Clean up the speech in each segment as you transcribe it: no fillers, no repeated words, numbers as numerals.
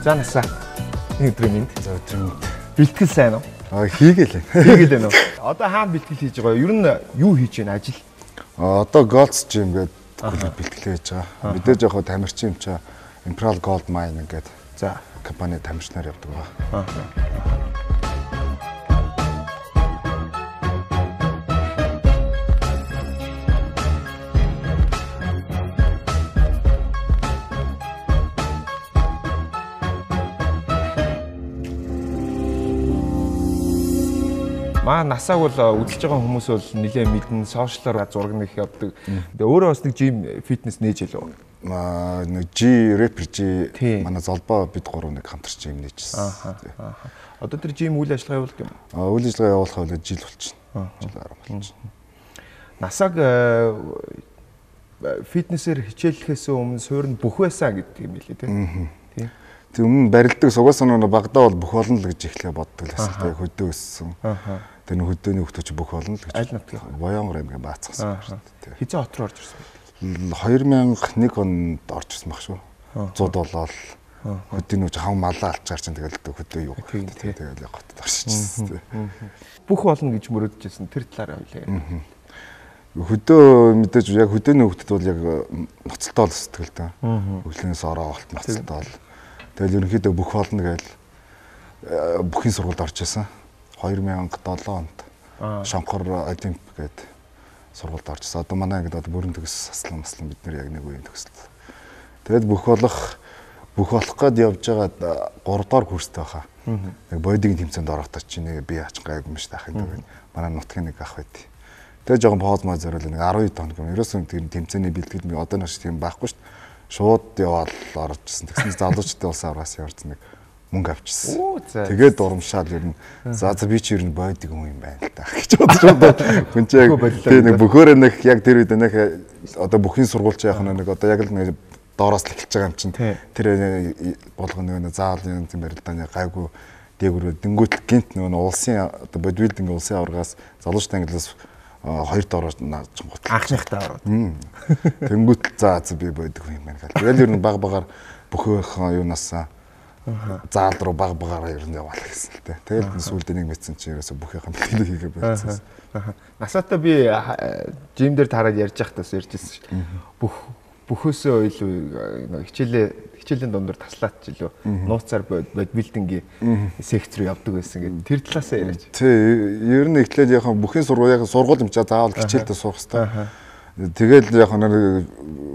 За насаа. Өдрийн мэнд. За өдрийн мэнд. Бэлтгэл сайн уу? Хийгээл. Хийгээл байна уу? Одоо хаана бэлтгэл хийж байгаа? Ер нь юу хийж байна ажил? Одоо Golds Gym гэдэг бэлтгэл хийж байгаа. Мэдээж яг тамирчин юм чаа Imperial Gold Mine гэдэг. За компани тамирчнаар явдаг байгаа. Маа насааг бол үзэж байгаа хүмүүс бол нэлээд мэднэ, сошиалаар зураг нэх явдаг. Тэгээ өөрөө бас нэг жим фитнес нээж илүү. Нэг G Rapper G манай золбоо бид гурав нэг хамтарч юм нээжсэн. Одоо тэр жим үйл ажиллагаа явуулдаг юм. Үйл ажиллагаа явуулах бол жил болчихно. Жил 10 болчихно. Насааг фитнесээр хичээллэхээс өмнө суурь нь бүх байсан гэдэг юм билээ тийм. Тэг өмнө барилдаг сугаас нь багадаа бол бүх болно л гэж ихлэ боддог л байсан. Тэг хөдөө өссөн. Тэр нэг хөдөөний хөлтөч бүх болно л гэж. Аль нутгийн Боёнгор аймгийн Баацгасан. Хизээ хот руу орж ирсэн байдаг. 2001 онд орж ирсэн баг шүү. 100 болоод хөдөөний хүч хав малаа алчаар чинь тэгэл хөдөө юу гэдэг. Тэгэл хотод орчихсон. Бүх болно гэж мөрөдчихсэн тэр талаараа хэлээ. Хөдөө мэдээж яг хөдөөний хөлтөд бол яг ноцолтой л сэтгэл та. Өглөөнөөс ороо олт ноцолтой бол. Тэгэл ерөнхийдөө бүх болно гээл бүхний сургуульд орж исэн. 2007 онд Шонхор Олимп гэдэг сургуульд орж исэн. Одоо манай ангид бүрэн төгс аслан бид нар яг нэг үеийн төгсөл. Тэгэл бүх болох гээд явж байгаа 3 дахь курстэй баха. Нэг бодигийн тэмцээнд орохдоо чи нэг би ач гайг юм шиг ахын гэдэг. Манай нутгийн нэг ах байд. Тэгээ жоохон поз маа зориул нэг 12 тоног юм. Ерөөсөө тийм тэмцээний бэлтгэл нэг одоо нэг тийм байхгүй шүү дээ. Шууд яваад орж ирсэн. Тэгсэн залуучтай улсын авраас явж нэг мөнгө авчихсан. Тэгээд урамшаал ер нь за би чи ер нь бойдик хүн юм байна л та гэж бодож байна. Хүн чи яг тийм нэг бөхөөрөө нэг яг тэр үед нэг одоо бүхний сургуульч яах нэг одоо яг л нэг доороос л эхэлж байгаа юм чинь. Тэр болгоно нэг заавал юм барилдааны гайгүй дээгүүр дэнгүүт гинт нэг улсын одоо бодибилдинг улсын аваргаас залуучтай ангилаас 2 доороо нааж гот анхныхтаа ороод. Тэнгүүт за би боддог юм байна гэл. Тэгэл ер нь баг багаар бөхөөхөн юунаас заал руу баг багаараа ер нь яваал гэсэн л тэ. Тэгэл сүүлдээ нэг мэдсэн чи ерөөсө бүхийнхэн бэлтгэл хийгээ байсан. Насаатаа би жим дээр тараад ярьж байхдаас ярьжсэн шүү. Бөхөөсөө илүү хичээлийн дундор таслаад ч илүү нууцаар бодибилдингийн секц руу явдаг байсан гэдэг. Тэр талаасаа яриач. Тий, ер нь ихлээр яг бүхний сургууль юм чаа заавал хичээлдээ суух хэрэгтэй. Тэгэл яг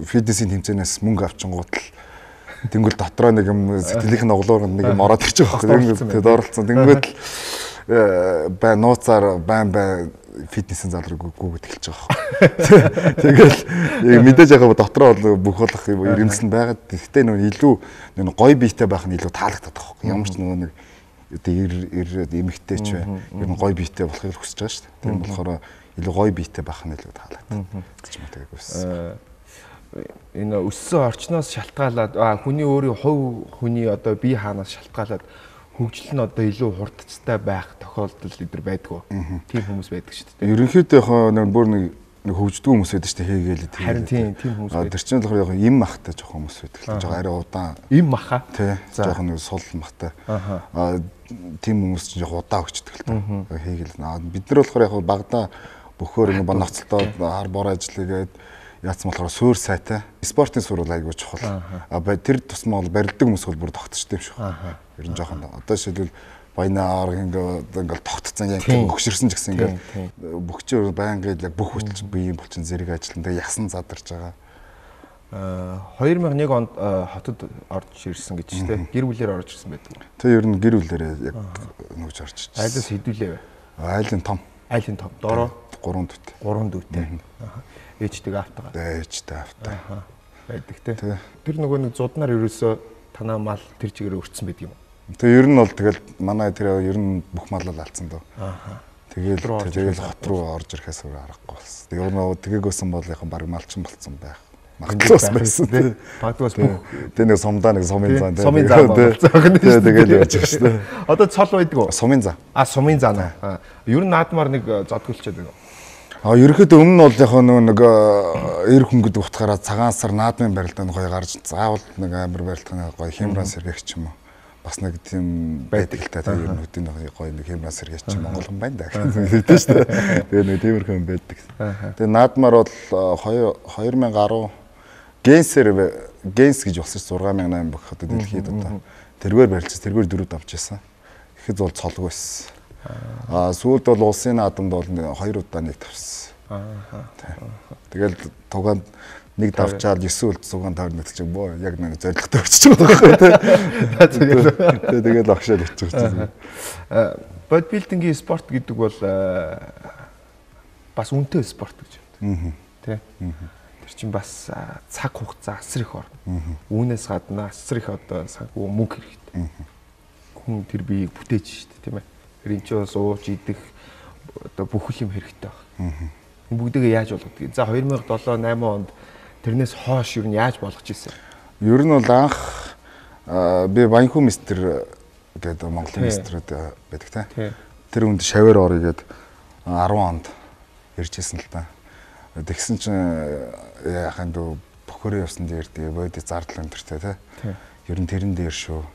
фитнесийн тэмцээнээс мөнгө авчингууд л тэнгуэл дотроо нэг юм сэтгэлийнх нь оглоорнд нэг юм ороод ирчих واخхой. Тэгээд оролцсон. Тэнгуэл бай нууцаар байн фитнесийн зал руу гүгд эхэлж байгаа. Тэгэл мэдээж яг дотроо бол бүх болох ирэмс нь байгаад. Гэхдээ нөө илүү гоё биетэй байх нь илүү таалагддаг байхгүй. Ямар ч нэг одоо ирээд эмэгтэй ч бай. Ер нь гоё биетэй болохыг хүсэж байгаа шүү дээ. Тийм болохоор илүү гоё биетэй байх нь илүү таалагддаг гэж мэтэг байсан. Энэ өссөн орчноос шалтгаалаад хүний өөрийн хувь хүний одоо бие хаанаас шалтгаалаад хөгжил нь одоо илүү хурдцтай байх тохиолдол эдэр байдгүй. Тийм хүмүүс байдаг шүү дээ. Ерөнхийдөө яг бүр нэг хөгждөг хүмүүс байдаг шүү дээ. Хийгээл тийм. Харин тийм хүмүүс байдаг. Тэр чинь болохоор яг им махтай жоохон хүмүүс байдаг. Жоохон арай удаан. Им маха. Тий. Жоохон нэг сул махтай. Тийм хүмүүс чинь жоохон удаан хөгждөг л та. Хийгээл. Бид нар болохоор яг багада бөхөөр нэг ноцолтоо хар бор ажиллагээд яатсан болохоор суур сайтай. Спортын суурь айгүй чухал. Тэр тусмаа бол барилдаг хүмүүс бол бүр тогтчтой юм шүү. Ер нь жоохон одоо жишээлбэл баянаар ингээл тогтцсон яг өгшөрсөн ч гэсэн ингээл бүгчээр байнгын яг бүх хүч биеийн булчин зэрэг ажиллана. Тэгээ ясан задарч байгаа. 2001 онд хотод орж ирсэн гэж тийм гэр бүлээр орж ирсэн байдаг. Тэг ер нь гэр бүлээрээ яг нүгж орж ирсэн. Айлаас хэдүүлээ вэ? Айлын том. Айлын том. Дороо 3 дүүтэй. 3 дүүтэй. Ээжтэйг автгаа. Ээжтэй автаа. Байдаг те. Тэр нөгөө нэг зуднаар ерөөсөө танаа мал тэр чигээр өрцсөн байдаг юм. Тэгээ ер нь бол тэгэл манай тэр ер нь бүх малал алдсан дөө. Тэгэл хот руу орж ирэхээс өөр аргагүй болсон. Тэгээ нөгөө тэгээгээсэн бол яг баг малчин болцсон байх. Магтаас байсан тий. Магтаас бүх тэгээ нэг сумдаа нэг сумын зам тий. Сумын зам болцсон. Тэгэл явж байгаа шүү дээ. Одоо цол байдаг уу? Сумын зам. Сумын зам. Ер нь наадмаар нэг зодгөлчээд байна. Ерөнхийдөө өмнө нь бол яг нэг эр хөнгөд утгаараа цагаан сар наадмын барилдаанд гоё гарч заавал нэг амир барилданы гоё хямран сэргийгч юм уу. Бас нэг тийм байдаг л та тэр ер нь хөдийн гоё нэг хямран сэргийгч Монгол хүн байна да гэдэг шүү дээ. Тэгээ нэг тиймэрхүү юм байдаг. Тэгээ наадмаар бол 2010 Генс гэж болсон 6800 бүх одоо дэлхийд одоо тэргээр барилж тэргээр дөрөв давж байсан. Ихэд бол цолгүй байсан. Сүүлд бол улсын наадамд бол 2 удаа нэг тавьсан. Тэгэл тугаанд нэг давчаад 9 үлд сугаан таарна гэж боо яг нэг зоригтой өчөж байгаа байхгүй. Тэгэл агшаал өчөж байгаа. Бодибилдингийн спорт гэдэг бол бас үнэтэй спорт гэж байна. Тэ. Тэр чинь бас цаг хугацаа асар их орно. Үүнээс гадна асар их одоо санхүү мөнгө хэрэгтэй. Хүн тэр биеийг бүтээж шүү дээ, тийм ээ. Ринчос ууж идэх одоо бүх юм хэрэгтэй байна. Энэ бүгдээ яаж болгодгийг. За 2007 8 онд тэрнээс хойш юу яаж болгож ирсэн? Ер нь бол анх би Банхүү мистер гэдэг Монголын мистерүүд байдаг тийм. Тэр үнд шавар орё гээд 10 онд иржсэн л та. Тэгсэн чинь яхаа дөө бохороо явсан дээр тэгээ бodi зардал өндөртэй тийм. Ер нь тэрэн дээр шүү.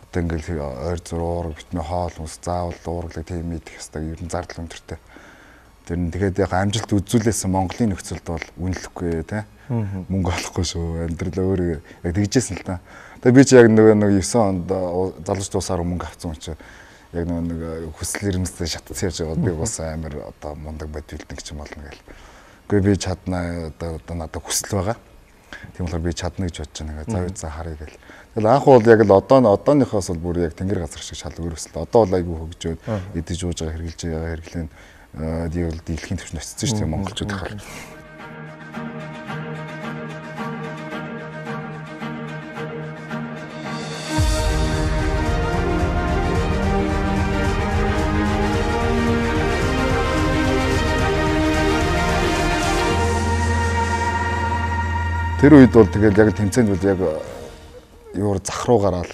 Одоо ингээл ойр зуруур битмэ хоол ус заавал дуурлаг тийм идэх ёстой ер нь зардал өндөртэй. Тэр нь тэгээд яг амжилт үзүүлсэн Монголын нөхцөлд бол үнэлэхгүй тий. Мөнгө олохгүй шүү. Амьдрал өөрөө яг тэгжсэн л та. Тэгээд би чи яг нэг 9 онд залууч дуусаар мөнгө авсан учраас яг нэг хүсэл эрмэлзтэй шатцсан яаж байгаа би бас амар одоо мундаг бодибилдинг гэж юм болно гээл. Гэхдээ би чадна одоо надад хүсэл байгаа. Тийм болохоор би чадна гэж бодож байгаа. За харъя гээл. Тэгэл анх бол яг л одооныхоос бол бүр яг тэнгэр газар шиг шал өрөөсөл. Одоо бол айгүй хөгжөөд идэж ууж байгаа хэрглэж байгаа хэрэглэн дийлхийн төвчөнд очсон шүү дээ монголчууд хахаар. Тэр үед бол тэгэл яг тэмцээнд бол яг юур зах руу гараад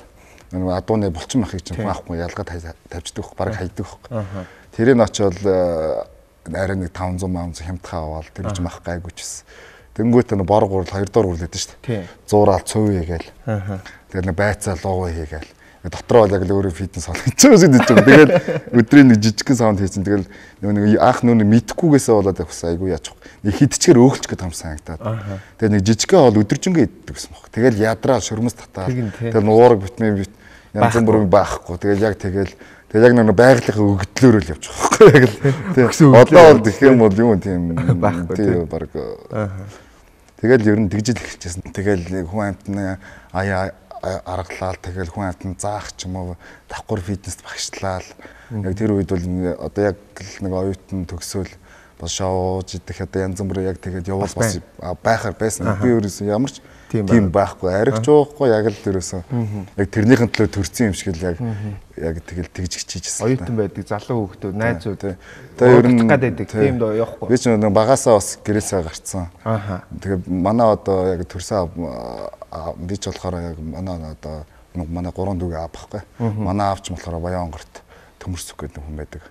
нэг адууны булчин махыг чинь маахгүй ялгаад тавьждаг хөх баг хайдаг хөх. Тэрийг очиод арай нэг 500 хямдхаа аваад тэр чинь мах гайгүйчсэн. Тэнгүүт нэг бор гурал 2 доор гурлаад шүү дээ. 100-аал цөөвэй гээл. Тэгээд нэг байцаа луугаа хийгээл. Дотроо бол яг л өөрөө фитнес олгож байгаа шүү дээ. Тэгэл өдрийн нэг жижигхэн саунд хийсэн. Тэгэл нэг анх нүг мэдхгүйгээсээ болоод явах айгүй яачих. Нэг хидчгээр өөхлч гэдэг юм санагдаад. Тэгээ нэг жижигхэн бол өдөржингөө иддэг гэсэн баг. Тэгэл ядраа шөрмөс татаад. Тэгэл нуураг битмээ янз бүрийн баахгүй. Тэгэл яг нэг байгалийнхаа өгдлөөр л явчих واخхой яг л. Одоо бол гэх юм бол юу тийм байхгүй тийм баг. Тэгэл ер нь тэгжил эхэлчихсэн. Тэгэл хүн амтны аргалал тэгэл хүн амтны заах ч юм уу давхар фитнест багшлал. Яг тэр үед бол одоо яг нэг оюутан төгсөөл бас шоуж идэх одоо янз бүрийн яг тэгээд явал бас байхаар байсан. Би өөрөөсөө ямар ч тийм байхгүй аригч уухгүй яг л тэрөөсөө яг тэрнийхэн төлөө төрсэн юм шиг л яг тэгэл тэгж хичээжсэн. Оюутан байдаг залуу хүүхдүүд найзууд тэгээ ер нь гадбайдаг тийм доо явахгүй. Би ч нэг багасаа бас гэрээсээ гарцсан. Тэгээ манай одоо яг төрсөн би ч болохоор яг манай одоо манай 3 дүүгээ аав байхгүй. Манай аавч болохоор Баянгорт төмөрсөх гэдэг хүн байдаг.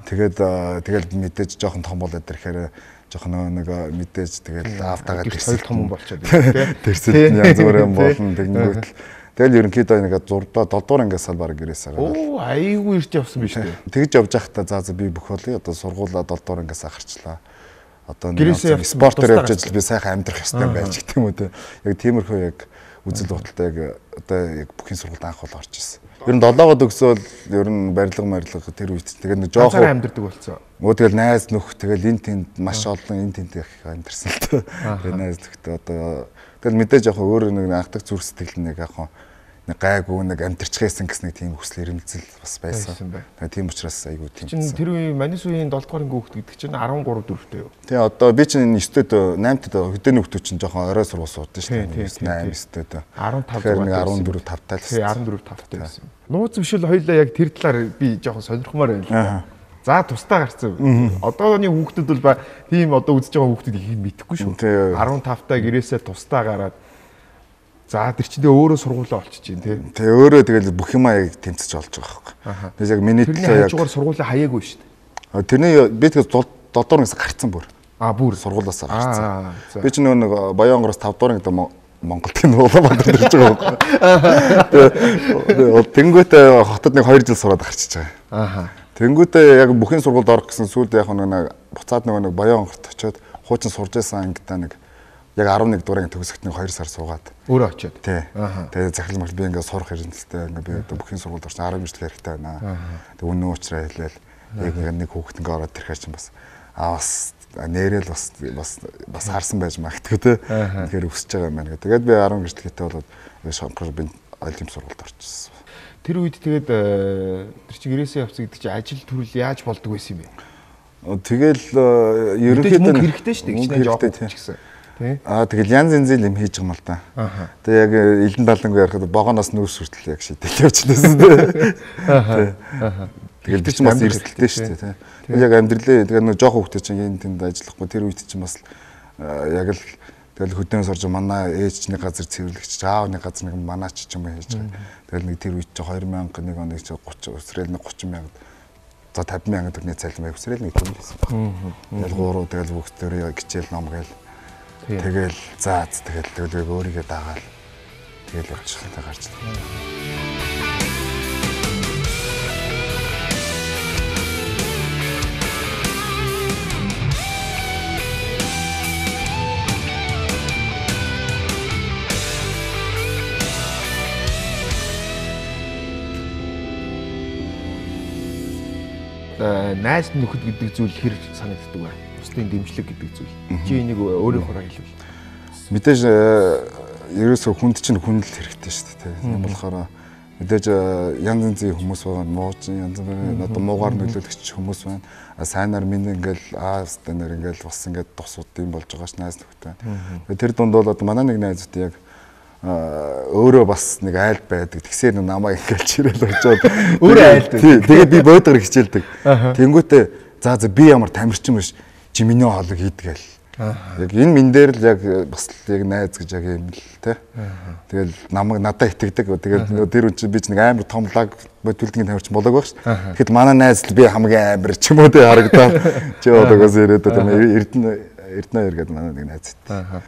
Тэгэл мэдээж жоохон том болоод ирэхээр жоохон нэг мэдээж тэгэл аавтайгаа төрсөл том болчиход тийм. Төрсөл янз бүрийн болно тэгэнгүүт л тэгэл ерөнхийдөө нэг 6 7 дугаар ангиас сал баг гэрээсээ гараад. Оо айгүй ирж явсан биш үү? Тэгж явж байхдаа за би бүх болъё одоо сургуулаа 7 дугаар ангиас гарчлаа. Одоо нэг спортоор явж ажил би сайхан амьдрах ёстой байж гэх юм уу те. Яг тиймэрхүү яг үзэл бодолтой яг одоо яг бүхний сургуульд анх бол орж ирсэн. Ер нь 7-оод өгсөөл ер нь барилга тэр үед тэгээд нэг жоохон амьдэрдэг болсон. Тэгэл найз нөх тэгэл энэ тэнд маш олон энэ тэнд их амьдэрсэн л тоо. Тэгээд найз нөхдөд одоо тэгэл мэдээж яг өөр нэг анхдаг зүрх сэтгэл нэг яг нэг гайгүй нэг амтэрчгээсэн гэсэн нэг тийм хүсэл эрмэлзэл бас байсан. Тийм учраас айгүй тийм. Чин тэр үе Манис үеийн 7 дугаар анги хүүхэд гэдэг чинь 13 4-тэй юу? Тий одоо би чинь 9-д 8-д хөдөөний хүүхдүүд чинь жоохон орой сургууль суудсан шүү дээ. 8 9-д 15 14 5-тай л. Тий 14 5-тай байсан. Нууц бишэл хоёлаа яг тэр талаар би жоохон сонирхмаар байна л да. За тусдаа гарцсан. Одооны хүүхдүүд бол тийм одоо үзэж байгаа хүүхдүүд их мэдэхгүй шүү. 15-таа гэрээсээ тусдаа гараад за тэр чинь өөрөө сургуулаа олчих чинь тий. Тэгээ өөрөө тэгэл бүх юмаа яг тэмцэж олж байгаа байхгүй. Тэгээс яг миний төлөө яг хажуугаар сургуулаа хаяагүй шүү дээ. Тэрний би тэгээ 7 дугаар ангиас гарцсан бүр. Бүр сургуулаас гарцсан. Би ч нэг Баянгороос 5 дугаар ангид Монголд тийм Улаанбаатар ирж байгаа байхгүй. Тэнгүүтээ хотод нэг 2 жил сураад гарчиж байгаа. Тэнгүүтээ яг бүхэн сургуульд орох гэсэн сүүлд яг нэг буцаад нэг Баянгорт очиод хуучин сурж байсан ангидаа нэг яг 11 дуурайг төгсгөт нэг 2 сар суугаад өөрөө очиод. Тий. Тэгээд захирал мэл би ингээд сурах хэрэгэлтэй ингээд би одоо бүхэн сургуульд орсон 10 жил хэрэгтэй байна. Тэгээд үнэн уучраа хэлээл яг нэг хүүхэд ингээд ороод ирэхээр чинь бас бас нэрэл бас харсан байж магадгүй те. Тэгэхээр өсөж байгаа юм байна. Тэгээд би 10 гэрчлэгтэй болоод шонхор би айлын сургуульд орчихсон. Тэр үед тэгээд тэр чинь гэрээсээ явцсан гэдэг чинь ажил төрөл яаж болдог байсан юм бэ? Тэгэл ерөнхийдөө хэрэгтэй шүү дээ. Хичнээн жоох гэсэн. Тэгэл янз янзын юм хийж байгаа юм л да. Тэгээ яг элдэн далангүй ярихад богоноос нүүрс хүртэл яг шийдэл явчихлаа. Тэгэл би ч бас эрсдэлтэй шүү дээ. Тэгэл яг амьдралээ тэгээ нэг жоох хүүхдээ чинь энэ тэнд ажиллахгүй тэр үед чинь бас яг л тэгэл хөдөөнөөс орж манай ээж чинь газар цэвэрлэгч аавны газар нэг манаач ч юм хийж байгаа. Тэгэл нэг тэр үед чинь 2001 оны 30 өсрэл нэг 30 мянга за 50 мянга төгрөгийн цалин байв өсрэл нэг тийм байсан. Тэгэл гурав тэгэл хүүхдөрөө гिचээл ном гээл тэгэл заац тэгэл өөрийгөө дагаал тэгэл явчихлаа гарч. Найз нөхөд гэдэг зүйл хэр санагддаг вэ? Бусдын дэмжлэг гэдэг зүйл. Чи энийг өөрийнхөө хэлвэл. Мэдээж ерөөсөө хүнд чинь хүндэл хэрэгтэй шүү дээ. Тийм болохоор мэдээж янз янзын хүмүүс байгаа. Мууч янз бүрийн одоо муугаар нөлөөлөгч хүмүүс байна. Сайнаар минь ингээл станаар ингээл бас ингээд тусууд юм болж байгаа ш найз нөхөдтэй. Тэр дунд бол одоо манай нэг найзууд яг өөрөө бас нэг айл байдаг. Тэгсээр намайг ингээл чирэл очоод өөрөө айлдаг. Тэгээд би бодгор хичээлдэг. Тэнгүүтээ за би ямар тамирчин биш чи миний хоолыг хийдгээл. Яг энэ мэн дээр л яг бас яг найз гэж яг юм л те. Тэгэл намайг надад итгэдэг. Тэгээд тэр үн чи би ч нэг амар том лаг бодвилдгийн тамирчин болоог байх ш. Тэгэхэд манай найз л би хамгийн амар ч юм уу те харагдаад чи одоогоос ирээд Эрдэнэ иргэд манай нэг найз.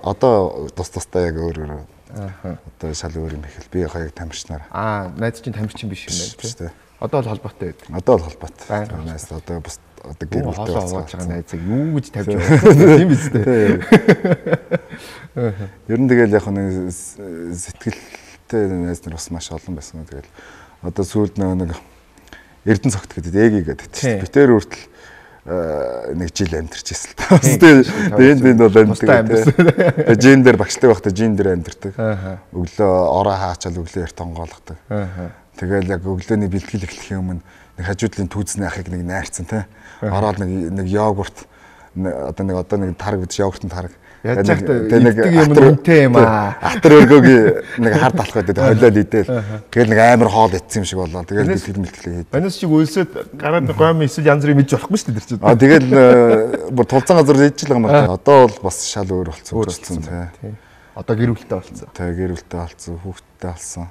Одоо тус-тустай яг өөр одоо шал өөр юм ихэл би хоёрыг тамирчнаар. Найз чинь тамирчин биш юм байна тий. Одоо л холбоотой байдаг. Одоо л холбоотой. Найз одоо бас одоо гэр бүлтэй болж байгаа найзыг юу гэж тавьж байгаа тийм биз дээ. Ер нь тэгэл яг нэг сэтгэлтэй найз нар бас маш олон байсан. Тэгэл одоо сүүлд нэг Эрдэнэ цогт гэдэг ээги гэдэг чинь битээр хүртэл нэг жил амьдарч ирсэн л та. Тэгээд энэ бол амьдардаг. Жин дээр багштай байхдаа жин дээр амьдардаг. Өглөө ороо хаачаал өглөө эрт онгоолгодог. Тэгэл яг өглөөний бэлтгэл эхлэхийн өмнө нэг хажуудлын түүцний ахыг нэг найрцсан тий. Ороод нэг йогурт одоо нэг тарг гэж йогуртын тарг. Яаж нэг юм үнэтэй юм аа. Атар өргөөг нэг хард алах байдаг хойлол идэл. Тэгэл нэг амар хоол ицсэн юм шиг болоо. Тэгэл бэлтгэл хийдэг. Манайс шиг өлсөд гараад гом эсвэл янз бүрийн мэдж болохгүй шүү дээ тэр чинь. Тэгэл бүр тулцсан газар хийж л байгаа юм байна. Одоо бол бас шал өөр болцсон тий. Одоо гэр бүлтэй болцсон. Тий гэр бүлтэй болцсон, хүүхэдтэй болсон.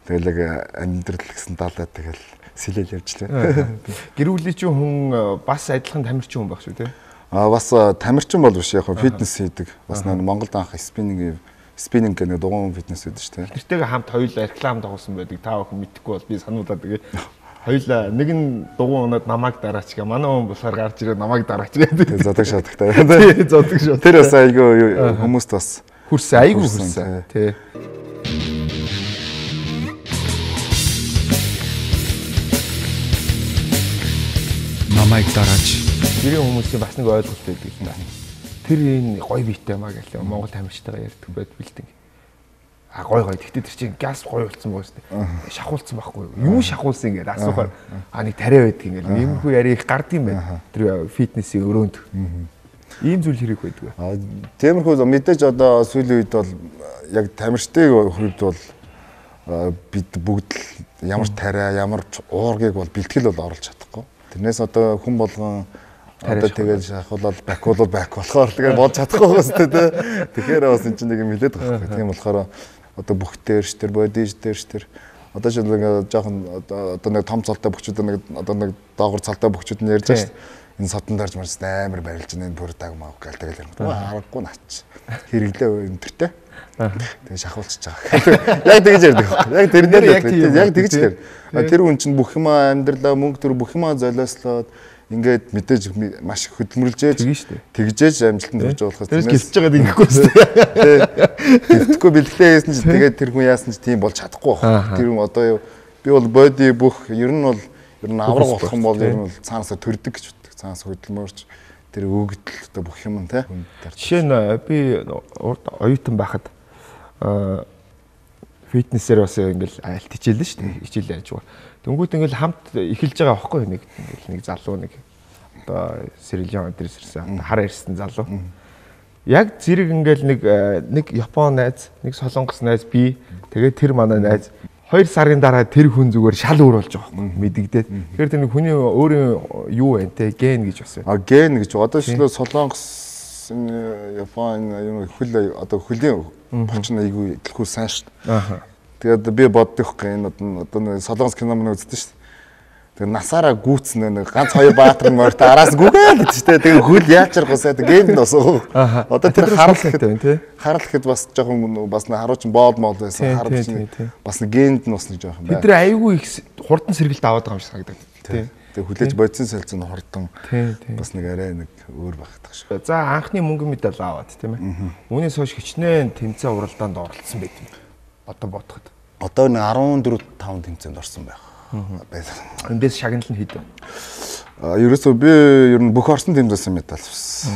Тэгэл яг амьдрал гэсэн далаа тэгэл сэлэл явжлаа. Гэр бүлийн чинь хүн бас адилхан тамирчин хүн байх шүү тий. Бас тамирчин бол биш яг фитнес хийдэг. Бас нэг Монголд анх спиннинг гэх нэг дугуйн фитнес хийдэг шүү дээ. Тэртэйгээ хамт хоёулаа реклам дагуулсан байдаг. Та бүхэн мэдэхгүй бол би сануулаад тэгээ. Хоёулаа нэг нь дугуйн унаад намайг дараач гэ. Манай хүн болохоор гарч ирээд намайг дараач гэдэг. Зодог шатагтай. Тий, зодог шат. Тэр бас айгүй хүмүүст бас хүрсэн айгүй хүрсэн. Тий. Намайг дараач. Гэрийн хүмүүсийн бас нэг ойлголт байдаг юм байна. Тэр энэ гоё биетэй маа гэлээ Монгол тамирчтайгаа ярьдаг байд бэлдэн. гой. Тэгтээ тэр чинь газ гоё болсон байгаа шүү дээ. Шахуулсан байхгүй юу? Юу шахуулсан ингээд асуухаар нэг тариа байдаг ингээд иймэрхүү яриа их гард юм байна. Тэр фитнесийн өрөөнд. Ийм зүйл хэрэг байдаг. Тиймэрхүү мэдээж одоо сүүлийн үед бол яг тамирчдын хувьд бол бид бүгд л ямар тариа, ямар уургийг бол бэлтгэл бол оруулж чадахгүй. Тэрнээс одоо хүн болгон одоо тэгэл шахуулаад бакуулаад бак болохоор тэгээ болж чадахгүй байгаа шүү дээ. Тэгэхээр бас энэ чинь нэг юм хэлээд байгаа. Тийм болохоор одоо бүх дээрш тэр бодиж дээрш тэр одоо ч нэг жоохон одоо нэг том цалтай бөхчүүд нэг одоо нэг доогор цалтай бөхчүүд нь ярьж байгаа шүү дээ. Энэ содон дарж марж амар барилж энэ бүр даг маа гэл тэгэл юм. Харахгүй наач. Хэрэглээ өнтертэй. Тэгээ шахуулчих байгаа. Яг тэгж ярьдаг. Яг тэрнээр яг тэгж ярьдаг. Тэр хүн чинь бүх юм амьдралаа мөнгө төр бүх юм золиослоод ингээд мэдээж маш их хөдөлмөрлжээж тэгжээж амжилтанд хүрч байгаа болохоос тэрс гэлж байгаад ингэхгүй шүү дээ. Тэгтгүй бэлтгэлээ хийсэн чинь тэгээд тэр хүн яасан чинь тийм болж чадахгүй байна. Тэр хүн одоо би бол боди бүх ер нь авраг болох юм бол ер нь цаанасаа төрдөг гэж боддог. Цаанаас хөдөлмөрч тэр өгдөл одоо бүх юм те. Жишээ нь би оюутан байхад фитнесээр бас ингээл айлт хичээлэн шүү дээ. Хичээл яаж байгаа. Тэнгүүд ингээл хамт эхэлж байгаа байхгүй нэг залуу нэг одоо Сэрэлжан өдрөөс ирсэн хар ирсэн залуу. Яг зэрэг ингээл нэг Япон найз, нэг Солонгос найз би тэгээд тэр манай найз 2 сарын дараа тэр хүн зүгээр шал өөр болж байгаа байхгүй мэдэгдээд. Тэгэхээр тэр нэг хүний өөрийн юу вэ те ген гэж бас байна. Ген гэж одоо шилээ Солонгос Япон юм хөл одоо хөлийн болчихно айгүй дэлхүү сайн шүү дээ. Тэгээд би боддог юм одоо Солонгос кино мөн үздэг шүү дээ. Тэгээд насаараа гүйцэн нэг ганц 2 баатар морьт араас гүгээ гэдэг шүү дээ. Тэгээд хөл яачрахусаа генд носоо. Одоо тэр харал гэхэд бас жоохон бас харуулж боол мол байсан. Харал чинь бас генд носны жоохон байна. Бид нар айгүй их хурдан сэргэлт аваад байгаа юм шиг санагдав. Тэгээд хүлээж бодсон сэлцэн хурдан бас нэг арай нэг өөр багтах шиг. За анхны мөнгөн медаль аваад тийм ээ. Үүнээс хойш хичнээн тэмцээн уралдаанд оролцсон байт юм. Одоо бодоход. Одоо нэг 14-5 тэмцээнд орсон байх. Эндээс шагналт нь хэд вэ? Ерөөсөө би ер нь бүх орсон тэмцээсэн медаль авсан.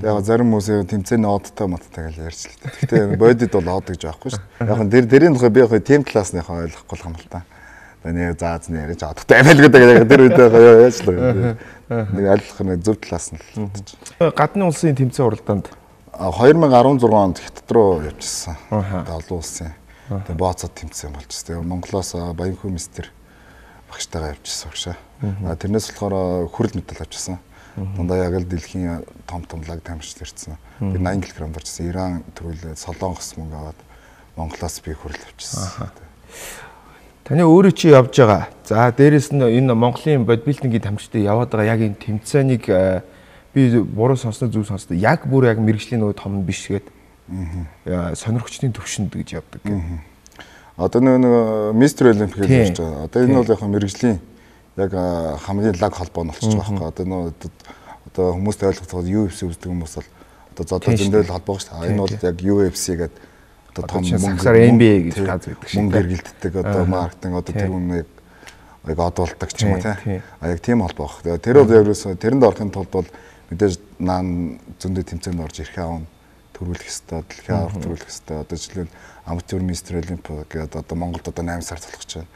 Яг зарим хүмүүс тэмцээний одтой модтой гэж ярьж л дээ. Гэхдээ бодид бол од гэж байхгүй шүү дээ. Яг дэрийн тухай би яг тим классныхаа ойлгохгүй юм л та. Нэг зааз нэрэж одтой аймаг гэдэг тэр үед яаж л нэг ойлгох нэг зөв талаас нь л. Гадны улсын тэмцээн уралдаанд 2016 онд Хятад руу явчихсан. Олон улсын. Тэгээ бооцоод тэмцээн болчихсон. Монголоос Баянхүү мистер багштайгаа явчихсан багшаа. Тэрнээс болохоор хүрэл медаль авчихсан. Дандаа яг л дэлхийн том лаг тамирчид ирсэн. Би 80 кг орчихсан. Иран төрүүлээд Солонгос мөнгө аваад Монголоос би хүрэл авчихсан. Таны өөрөө чи явж байгаа. За дээрэс нь энэ Монголын бодибилдингийн тамирчид яваад байгаа яг энэ тэмцээнийг би буруу сонсноо зөв сонсноо яг бүр яг мэрэгжлийн нөгөө том биш гээд сонирхчдын төвшөнд гэж явдаг. Одоо нэг мистер олимпик гэж ярьж байгаа. Одоо энэ бол яг мэрэгжлийн яг хамгийн лаг холбоо нь болчихж байгаа байхгүй. Одоо хүмүүст ойлгох UFC үздэг хүмүүс бол одоо зодоо зөндөл холбоо шүү дээ. Энэ бол яг UFC гэдэг одоо том мөнгөөр NBA гэж газ байдаг шиг. Мөнгө эргэлддэг одоо маркетинг одоо тэр үнэнийг яг одуулдаг ч юм уу тий. Яг тийм холбоо баг. Тэр бол ерөөсөө тэрэнд орохын тулд бол мэдээж наан зөндөө тэмцээнд орж ирэх аав төрүүлэх ёстой, дэлхийн аврах төрүүлэх ёстой. Одоо жишээлбэл аматер мистер олимпиад гэдэг одоо Монголд одоо 8 сар болох гэж байна.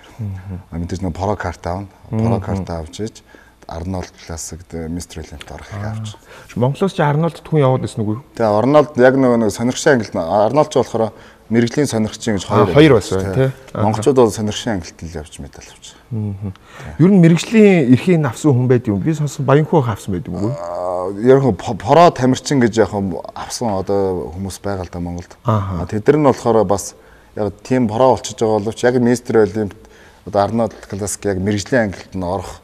Мэдээж нэг про карт аавна. Про карт авч иж Арнольд классик мистер олимпиад орох хэрэг авч. Монголоос чи Арнольд түн яваад байсан үгүй юу? Тэгээ Арнольд яг нэг сонирхшин ангилт Арнольд ч болохоор мэрэгжлийн сонирхчин гэж хоёр байсан тий. Монголчууд бол сонирхшин ангилт л явж медаль авч. Ер нь мэрэгжлийн эрхийг авсан хүн байд юм. Би сонсон Баянхүү авсан байд юм уу? Яг про тамирчин гэж яг авсан одоо хүмүүс байгаа л да Монголд. Тэдэр нь болохоор бас яг тийм про болчихж байгаа боловч яг мистер олимпиад одоо Арнольд классик яг мэрэгжлийн ангилт нь орох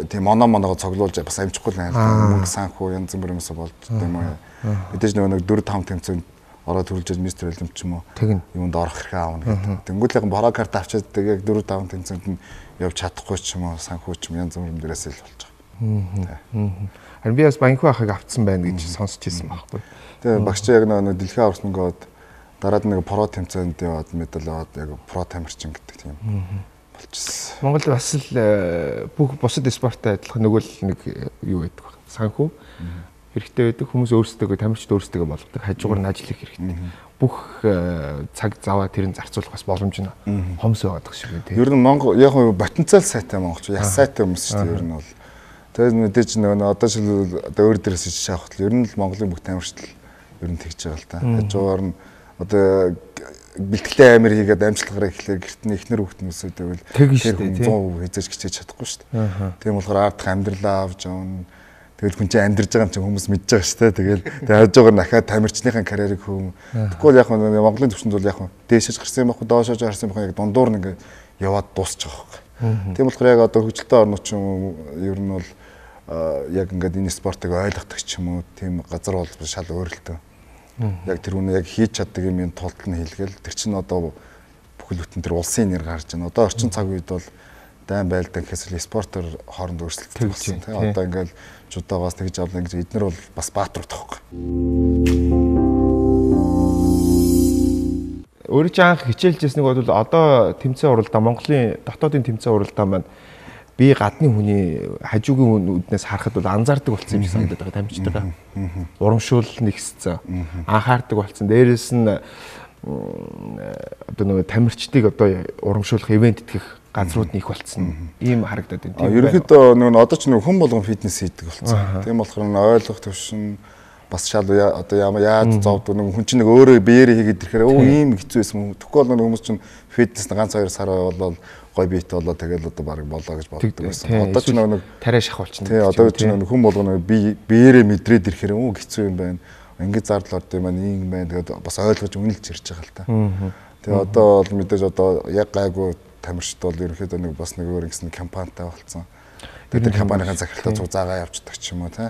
тийм моногоо цоглуулж бас амжихгүй л байна. Мөнгө санхүү янз бүр юмс болж тийм үү. Мэдээж нэг 4-5 тэмцээнд ороод төрүүлж мистер олимпиад ч юм уу юунд орох хэрэг аавна гэдэг. Тэнгүүт яг про карт авчаад яг 4-5 тэмцээнд нь явж чадахгүй ч юм уу санхүү ч юм янз бүр дээрээс л болж байгаа. Харин би бас Баянхүү ахыг авцсан байна гэж сонсч ирсэн байхгүй. Тэгээ багш яг нэг дэлхийн авралт мөнгөд дараад нэг про тэмцээнд яваад медаль аваад яг про тамирчин гэдэг тийм болчихсон. Монголд бас л бүх бусад спорттой адилхан нөгөө л нэг юу байдаг вэ? Санхүү. хэрэгтэй байдаг. Хүмүүс өөрсдөө тамирчид өөрсдөө болгодог. Хажуугаар нь ажил хийх хэрэгтэй. Бүх цаг заваа тэр нь зарцуулах бас боломж нь хомс байгаад шиг байна тийм. Ер нь Монгол яг потенциал сайтай монголч яс сайтай хүмүүс шүү дээ ер нь бол. Тэгээд мэдээж нөгөө одоо шил өөр дээрээс ичж авах л ер нь л Монголын бүх тамирчид ер нь тэгж байгаа л та. Хажуугаар нь одоо бэлтгэлтэй амир хийгээд амжилтгараа ихлээр гэртний эхнэр хүүхднөөсөө тэгвэл тэр 100% хязгаарч хичээж чадахгүй шүү дээ. Тийм болохоор ардах амьдралаа авч явна. Тэгэл хүн чинь амьдарч байгаа юм чинь хүмүүс мэдж байгаа шүү дээ. Тэгэл хажуугаар нь дахиад тамирчныхаа карьерийг хөөм. Тэгвэл яг Монголын төвчөнд бол яг дээшэж гарсан юм баггүй доошож гарсан юм баггүй яг дундуур нь ингээд яваад дуусчих واخхой. Тийм болохоор яг одоо хөгжилтэй орнууд ч юм ер нь бол яг ингээд энэ спортыг ойлгодог ч юм уу тийм газар бол шал өөрлөлтөө. Яг тэр үнэ яг хийж чаддаг юм тулд нь хийлгээл тэр чинь одоо бүхэл бүтэн тэр улсын нэр гарч байна. Одоо орчин цаг үед бол дайн байлдан гэхээс спортоор хооронд өрсөлдөлт болсон тийм. Одоо ингээд жудаагаас тэгж авлаа гэж эднэр бол бас баатар тоххой. Өөрөө ч анх хичээлжсэн нэг бол одоо тэмцээн уралдаа Монголын дотоодын тэмцээн уралдаа маань би гадны хүний хажуугийн үднээс харахад бол анзаардаг болсон юм шиг санагдаад байгаа тамирчдаа. Урамшуул нэгсцэн. Анхаардаг болсон. Дээрээс нь одоо нөгөө тамирчдыг одоо урамшуулах ивент итгэх газрууд нь их болцсон. Ийм харагдаад байна. Ерөнхийдөө нөгөө одоо ч нөгөө хүн болгон фитнес хийдэг болсон. Тийм болохоор ойлгох төвшин бас шал одоо яаж зовдөг нэг хүн чинь нэг өөрөө биеэрээ хийгээд ирэхээр ийм хэцүү байсан. Тэгэхгүй бол хүмүүс чинь фитнес ганц 2 сар болол гой биет болоо тэгэл одоо баг болоо гэж боддог байсан. Одоо ч нэг тариа шахуулчихна. Тий одоо ч нэг хүн болгоно биеэрээ мэдрээд ирэхээр хэцүү юм байна. Ингээд зардал орд юм байна, ийм байна. Тэгээд бас ойлгож үнэлж ирж байгаа л та. Тэгээ одоо бол мэдээж одоо яг гайгүй тамирчид бол ерөнхийдөө нэг бас нэг өөр ингэсэн компанитай болцсон. Тэгээд тэр компанийн захиралтаа цуг заагаа явчихдаг ч юм уу тий.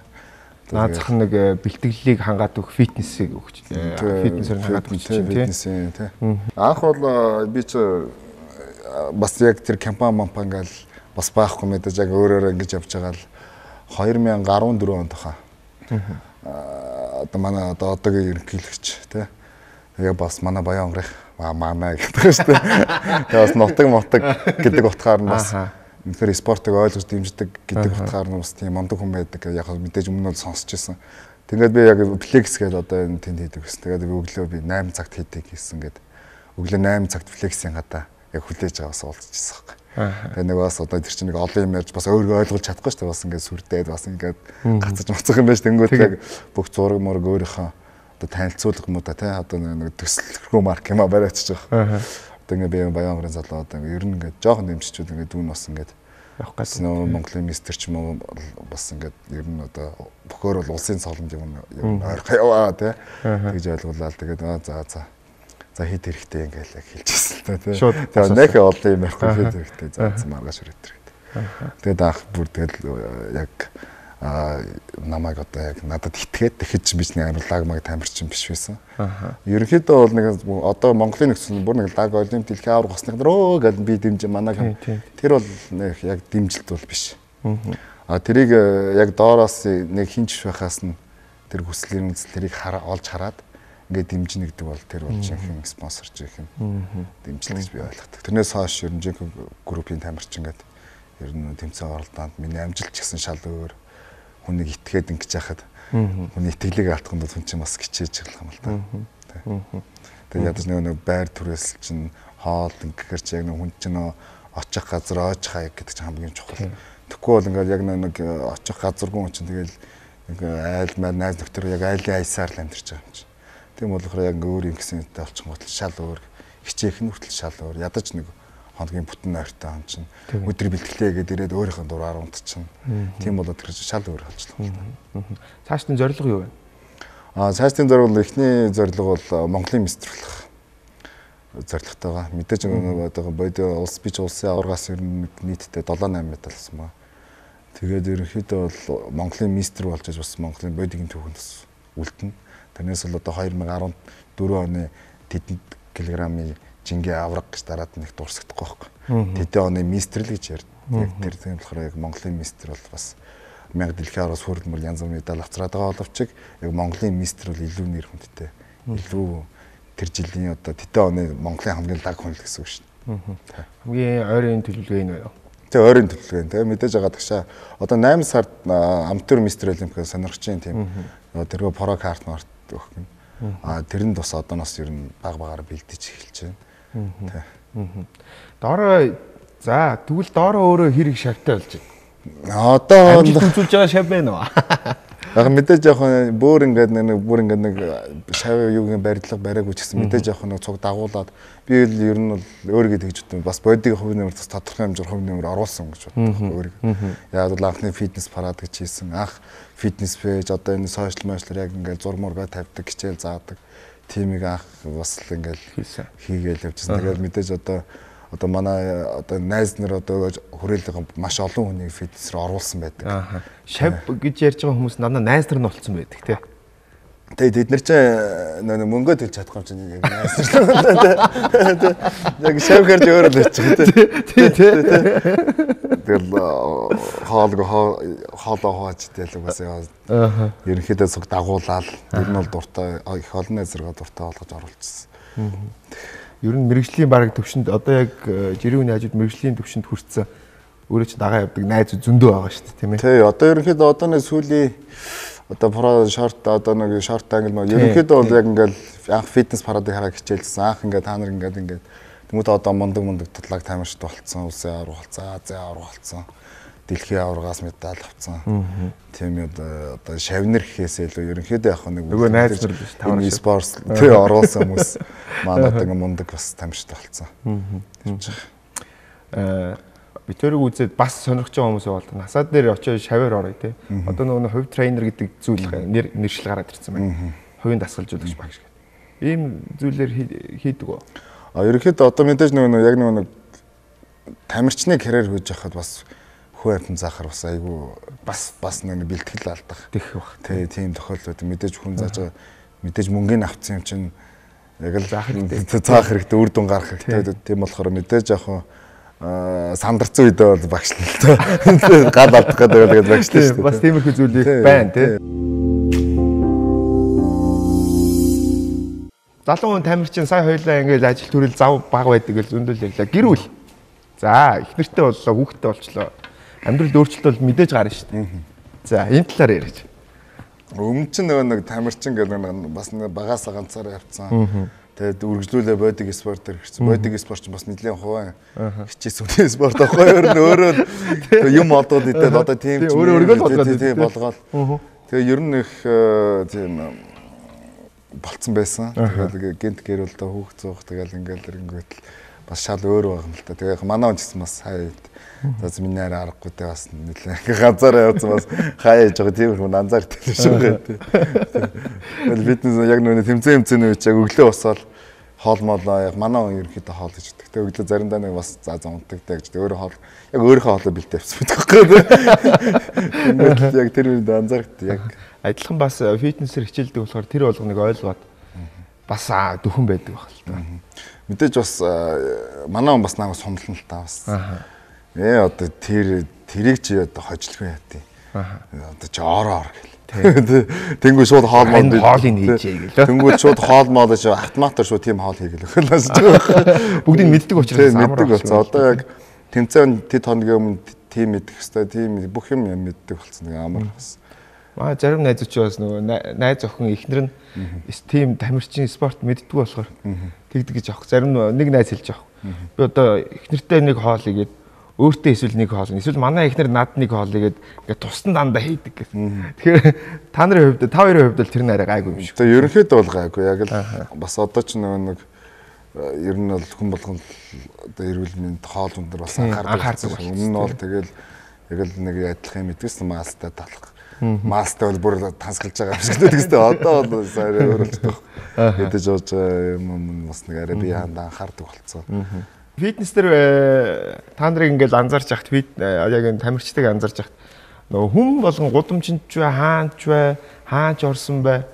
Наад зах нэг бэлтгэлийг хангаад өгөх фитнесийг өгч фитнесээр хангаад өгч тий. Анх бол би ч бас яг тэр компани ингээл бас байхгүй мэдээж яг өөрөөр ингэж явж байгаа л 2014 онд хаа. Одоо манай одоогийн ерөнхийлөгч тий. Тэгээ бас манай Баян онгорын манай гэдэг шүү дээ. Тэгээ бас нутаг гэдэг утгаар нь бас үнэхээр спортыг ойлгож дэмждэг гэдэг утгаар нь бас тийм мондөг хүн байдаг. Яг мэдээж өмнө нь сонсч байсан. Тэгээд би яг флекс гэдэг одоо энэ тэнд хийдэг гэсэн. Тэгээд өглөө би 8 цагт хийдэг гэсэн гээд өглөө 8 цагт флексийн гадаа яг хүлээж аваас уулзчихсан хэрэг. Тэгээ нэг бас одоо тэр чинь нэг олон юм ярьж бас өөрийгөө ойлгуулж чадахгүй шүү дээ. Бас ингээд сүрдээд бас ингээд гацаж муцах юм байна шүү. Тэнгүүт яг бүх зураг мөрөг өөрийнхөө одоо танилцуулга юм уу та тий одоо нэг төсөлрхүү марк юм бариадчих жоох. Одоо ингээд би Баян онгорын залуу одоо ер нь ингээд жоохон дэмжичүүд ингээд дүүн бас ингээд явах гэсэн Монголын мистер ч юм уу бас ингээд ер нь одоо бөхөр бол улсын цоломж юм ойрхон яваа тий тэгж ойлгуулаад тэгээд за хэд хэрэгтэй ингээл яг хэлчихсэн л та тий. Тэгээд нэх олон юм ярихгүй хэд хэрэгтэй за маргааш өрөөд хэрэгтэй. Тэгээд анх бүр тэгэл яг намайг одоо яг надад итгээд тэгэхэд биш нэг лагмаг тамирчин биш байсан. Ерөнхийдөө бол нэг одоо Монголын нөхцөл бүр нэг лаг олимп дэлхийн авраг госных дрөө гэдэг би дэмжин манай тэр бол нэг яг дэмжилт бол биш. Тэрийг яг доороос нэг хинч байхаас нь тэр хүслийн үзлэрийг олж хараад ингээд дэмжинэ гэдэг бол тэр бол жинхэнэ спонсорч их юм дэмжлэг гэж би ойлгодог. Тэрнээс хойш ер нь жинхэнэ группийн тамирчин гэдэг ер нь тэмцээн оролдоонд миний амжилт ч гэсэн шал өөр хүнийг итгээд ингэж яхад хүний итгэлийг алдахын тулд хүн чинь бас гिचээж эхлэх юм л та. Тэгээд ядаж нэг байр түрээс чинь хоол ингэхэр чи яг нэг хүн чинь очих газар ойж хаяг гэдэг чинь хамгийн чухал. Тэгэхгүй бол ингээд яг нэг очих газаргүй хүн чинь тэгэл нэг айл маа найз нөхдөр яг айлын аясаар л амьдарч байгаа юм чинь. Тийм болохоор яг өөр юм гэсэн үедээ олчих гол шал өөр хичээх нь хүртэл шал өөр ядаж нэг хоногийн бүтэн ойртой ам чинь өдөр бэлтгэлээ гэдэг ирээд өөрийнхөө дураар унтчихна. Тийм болоод тэр шал өөр болчихлоо. Цаашдын зорилго юу вэ? Цаашдын зорилго эхний зорилго бол Монголын мистер болох зорилготойгоо. Мэдээж одоо бодит улс бич улсын аваргаас ер нь нийтдээ 7-8 медаль авсан ба. Тэгээд ерөнхийдөө бол Монголын мистер болж бас Монголын бодигийн түүхэнд бас үлдэнэ. Тэрнээс бол одоо 2014 оны тэдэнд килограммын жингээ авраг гэж дараад нэг дурсагдахгүй байхгүй. Тэдэн оны мистер л гэж ярьд. Яг тэр тийм болохоор яг Монголын мистер бол бас 1000 дэлхийн авраас хүрдмэл янз бүрийн медаль авцраад байгаа боловч яг Монголын мистер бол илүү нэр хүндтэй. Илүү тэр жилийн одоо тэдэн оны Монголын хамгийн лаг хүн л гэсэн үг шүү дээ. Хамгийн ойрын төлөвлөгөө энэ байна уу? Тэ ойрын төлөвлөгөө. Тэ мэдээж байгаа тагшаа одоо 8 сард амтур мистер олимпиад сонирхож чинь тийм тэргөө про карт март өгөх юм. Тэрэнд бас одооноос ер нь багаар бэлдэж эхэлж байна. Доороо за тэгвэл доороо өөрөө хэрэг шавтай болж байна. Одоо амжилт үзүүлж байгаа шав байна уу? Яг мэдээж яг бүр ингээд нэг шав юугийн барилга бариагүй ч гэсэн мэдээж яг нэг цуг дагуулад би ер нь бол өөрийгөө тэгж бодсон. Бас бодигийн хувь нэмэр бас тодорхой хэмжээр хувь нэмэр оруулсан гэж боддог өөрийгөө. Яг бол анхны фитнес парад гэж хийсэн. Анх фитнес пэйж одоо энэ сошиал медиалэр яг ингээд зураг мургаа тавьдаг, хичээл заадаг. Тимийг анх бас л ингээд хийгээл явжсэн. Тэгээд мэдээж одоо манай одоо найз нар одоо хүрээлэн маш олон хүнийг фитнес рүү оруулсан байдаг. Шав гэж ярьж байгаа хүмүүс надад найз нар нь болцсон байдаг тий. Тэгээд эд нар чинь мөнгөө төлж чадахгүй юм чинь яг найз нар. Яг шав хэрж өөрөө л очих тий. Тэгэл хоолоо хооч тэгэл угаасаа ерөнхийдөө цуг дагуулаад ер нь бол дуртай их олон найзраа дуртай болгож оруулчихсан. Ер нь мэрэгжлийн бараг төвшөнд одоо яг жирийн хажууд мэрэгжлийн төвшөнд хүрсэн өөрөө ч дагаа явдаг найз зөндөө байгаа шүү дээ тийм ээ. Тий, одоо ерөнхийдөө одоо нэг сүүлийн одоо про шорт одоо нэг шорт англ маа ерөнхийдөө бол яг ингээл анх фитнес парадыг хараа хичээлсэн. Анх ингээд та нар ингээд тэмүүд одоо мундаг татлаг тамирчд болцсон, улсын авраг болцсон, Азийн авраг болцсон. Дэлхийн аврагаас медаль авсан. Тийм одоо шавнар гэхээсээ илүү ерөнхийдөө яг нэг нөгөө найз нар биш тавар спорт тий оруулсан хүмүүс манайд ингээ мундаг бас тамирчтай болцсон. Битэрийг үзээд бас сонирхож байгаа хүмүүс болдог. Насаад дээр очиж шаваар орё тий. Одоо нөгөө хувь тренер гэдэг зүйл нэршил гараад ирсэн байна. Хувийн дасгалжуулагч багш гэдэг. Ийм зүйлээр хийдэг үү? Ерөнхийдөө одоо мэдээж нөгөө яг нөгөө тамирчны карьер хийж байхад бас хөө амтан заахаар бас айгүй бас нэг бэлтгэл алдах. Тэх баг. Тий, тийм тохиолдол мэдээж хүн зааж байгаа мэдээж мөнгөний авцсан юм чинь яг л заах хэрэгтэй, үр дүн гарах хэрэгтэй. Тийм болохоор мэдээж яг сандарцсан үедээ бол багшлаа л тоо. Гал алдах гэдэг багшлаа шүү дээ. Бас тиймэрхүү зүйл байна тий. Залуу хүн тамирчин сая хоёлаа ингээл ажил төрөл зав баг байдаг гэж зөндөл ярьлаа. Гэр бүл. За, их нэртэй боллоо, хүүхдтэй болчлоо. Амьдрал өөрчлөлт бол мэдээж гарна шүү дээ. За, энэ талаар ярьж. Өмнө чинь нэг тамирчин гэдэг бас багаасаа ганцаараа явцсан. Тэгээд үргэлжлүүлээ бодиг спортоор хэрэгцсэн. Бодиг спорт ч бас нэлийн хуваа хичээсэн үний спорт аахгүй өөр юм олдоод идээд одоо тийм ч тийм болгоод. Тэгээд ер нь их тийм болцсон байсан. Тэгээд гинт гэрүүлдэ хүүхд зуух тэгэл ингээл ирэнгүүт бас шал өөр байгаа юм л та. Тэгээд манай хүн ч гэсэн бас хаяа за миний арай аргагүй те бас нэлээ ганцаараа явсан бас хаяа яж байгаа тийм хүн анзаар тэлж шүү гэдэг. Тэгэл фитнес яг нүг тэмцээн үуч яг өглөө босоод хоол молоо яг манай хүн ерөнхийдөө хоол гэж өгдөг. Тэг өглөө заримдаа нэг бас за унтагтай гэж өөрөө хоол яг өөрийнхөө хоолоо бэлтээ авсан байхгүй. Яг тэр үед анзаарт яг адилхан бас фитнесээр хичээлдэг болохоор тэр болгоныг ойлгоод бас дөхөн байдаг баг л та. Мэдээж бас манай хүн бас намайг сумлна л та бас. Одоо тэрийг чи одоо хожлгүй яа тий. Одоо чи ороо гэл. Тэнгүү шууд хоол мод хоолыг хийжээ гэлөө. Тэнгүү шууд хоол мод чи автоматар шууд тийм хоол хийгээл өгөхлөөс байгаа. Бүгдийг мэддэг учраас амар болсон. Одоо яг тэмцээн тэд хоногийн өмнө тийм мэдэх хэвээр тийм бүх юм мэддэг болсон. Нэг амар бас. Зарим найзууд ч бас нөгөө найз охин ихнэр нь тийм тамирчин спорт мэддэг болохоор тэгдэг гэж авах. Зарим нэг найз хэлж авах. Би одоо ихнэртэй нэг хоол игээд өөртөө эсвэл нэг хоол эсвэл манай ихнэр над нэг хоол игээд ингээд тусдан дандаа хийдэг гэсэн. Тэгэхээр та нарын хувьд та хоёрын хувьд л тэр нь арай гайгүй юм шиг. Тэгээ ерөнхийдөө бол гайгүй. Яг л бас одоо ч нэг ер нь бол хүн болгон одоо эрүүл мэнд хоол өндөр бас анхаардаг. Өмнө нь бол тэгэл яг л нэг адилхан юм идэгсэн маастай талах. Маастай бол бүр тансгалж байгаа юм шиг тэгстэй. Одоо бол сая өөрөлдөх. Мэдээж ууж юм бас нэг арай би хандаа анхаардаг болцсон. Фитнес дээр та нарыг ингээл анзаарч яхад яг энэ тамирчдыг анзаарч яхад нөгөө хүн болгон гудамжинд ч бай, хаанч бай, хаач орсон бай.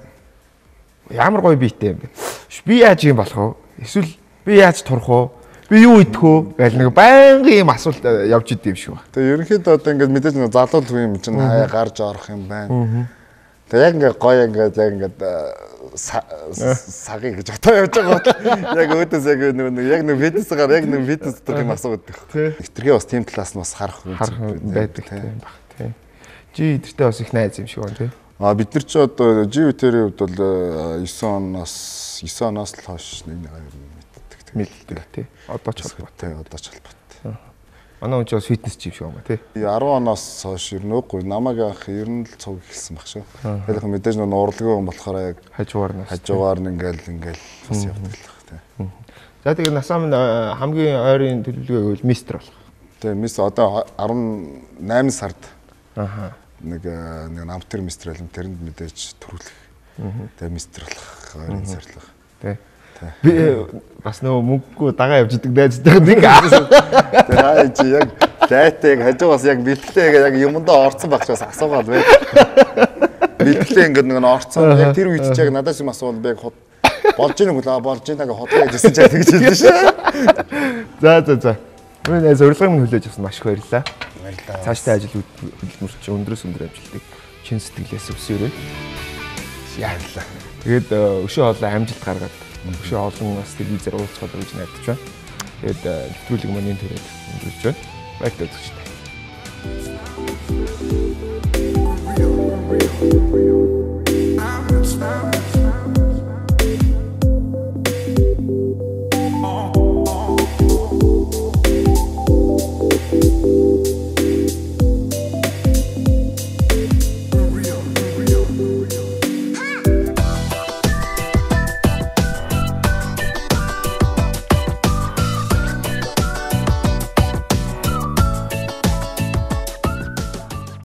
Ямар гоё биетэй юм бэ? Би яаж юм болох вэ? Эсвэл би яаж турах вэ? Би юу идэх вэ? Гэл нэг байнгын юм асуулт явж идэв юм шиг ба. Тэгээ ерөнхийдөө одоо ингээд мэдээж нэг залуу юм чинь хаяа гарч орох юм байна. Тэгээ яг ингээд гоё ингээд яг ингээд сагыг гэж бодоо явж байгаа. Яг өөдөөс яг нэг фитнесээр яг нэг фитнес дотор юм асуудаг. Хитрхээ бас тийм талаас нь бас харах байдаг тийм баг тийм. Жи эдэртээ бас их найз юм шиг байна тийм. Бид нар ч одоо живтерийн хувьд бол 9 оноос л хойш нэг мэддэг тийм. Одоо ч холбоотой. Одоо ч холбоотой. Манай хүн ч бас фитнес жим шиг юм ба тий. 10 оноос хойш ер нь үгүй намайг анх ер нь л цуг эхэлсэн баг шүү. Тэгэхээр мэдээж нэг урлагийн хүн болохоор яг хажуугаар нь ингээл бас явдаг л баг тий. За тэгээд насаа минь хамгийн ойрын төлөвлөгөө гэвэл мистер болох. Тий, мистер одоо 18 сард. Аха. Нэг амтэр мистер алим тэрэнд мэдээж төрүүлэх. Тэгээ мистер болох ойрын сарлах. Тий. Би бас нөгөө мөнгөгүй дагаа явж идэг найзтай нэг. Тэгээ чи яг дайтаг хажуугаас яг бэлтгэлээ яг юмдаа орцсон багчаас асуугаад бай. Бэлтгэлээ ингээд нэг орцсон яг тэр үед ч яг надаас юм асуувал би яг болж ийн болж ийн гэж хотлоо гэжсэн чаа тэгж хэлсэн шүү. За. Миний зорилгыг минь хүлээж авсан маш их баярлалаа. Цаашдаа ажил хөдөлмөрч өндрөөс өндөр амжилтыг чин сэтгэлээс өсөөрэй. Яарлаа. Тэгээд өшөө хоолой амжилт гаргаад өшөө олон бас телевизээр уулзах гэж найдаж байна. Тэгээд нэвтрүүлэг маань энэ төрөйд өндөрлөж байна. Баярлалаа.